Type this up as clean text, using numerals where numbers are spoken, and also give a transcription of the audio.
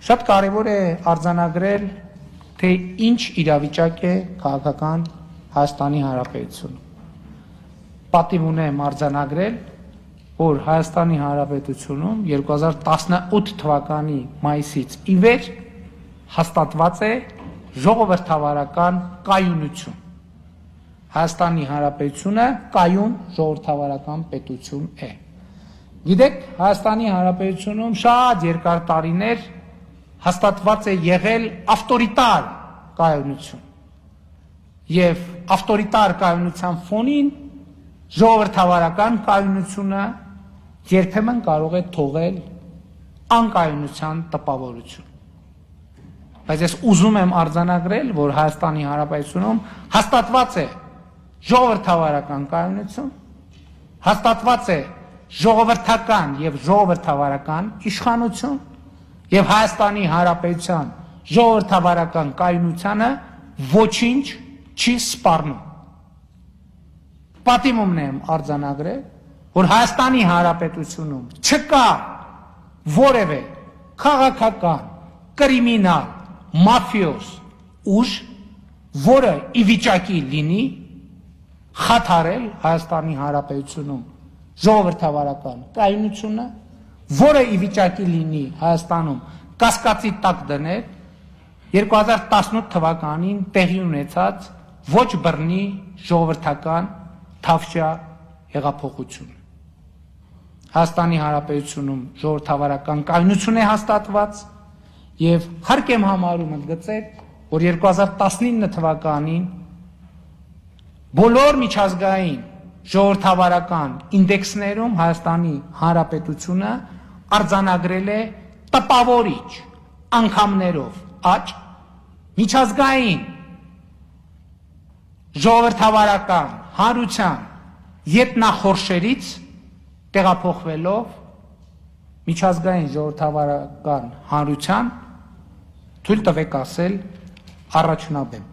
Շատ կարևոր է արձանագրել, թե ինչ իրավիճակ է քաղաքական Հայաստանի Հանրապետությունում։ Պատիվ ունեմ արձանագրել, որ Հայաստանի Հանրապետությունում 2018 թվականի մայիսից ի վեր հաստատված է ժողովրդավարական կայունություն։ Հայաստանի Հանրապետությունը կայուն ժողովրդավարական պետություն է։ Գիտեք, Հայաստանի Հանրապետությունում շատ երկար տարիներ հաստատված է եղել ավտորիտար կայունություն եւ ավտորիտար կայունության ֆոնին ժողովրդավարական կայունությունը երբեմն կարող է թողել անկայունության տպավորություն։ Բայց ես ուզում եմ արձանագրել, որ Հայաստանի Հանրապետությունում հաստատված է ժողովրդավարական կայունություն, հաստատված է ժողովրդական եւ ժողովրդավարական իշխանություն եւ Հայաստանի Հանրապետության ժողովրդավարական կայունությանը ոչինչ չի սպառնում։ Պատիմումն եմ արձանագրել, որ Հայաստանի Հանրապետությունում չկա որևէ քաղաքական, կրիմինալ, մաֆիոզ ուժ, որը ի վիճակի լինի խաթարել Հայաստանի Հանրապետությունում ժողովրդավարական կայունությունը, որը ի վիճակի լինի Հայաստանում կասկածի տակ դնել 2018 թվականին տեղի ունեցած ոչ բռնի ժողովրդական թավշյա հեղափոխություն։ Հայաստանի Հանրապետությունում ժողովրդավարական կայունություն է հաստատված եւ հարկ եմ համարում ընդգծել, որ 2019 թվականին բոլոր միջազգային ժողովրդավարական ինդեքսներում Հայաստանի Հանրապետությունը արձանագրել է տպավորիչ անգամներով աճ, միջազգային ժողովրդավարական հանրության ետնախորշերից տեղափոխվելով միջազգային ժողովրդավարական հանրության թույլ տվեք ասել առաջնաբեմ։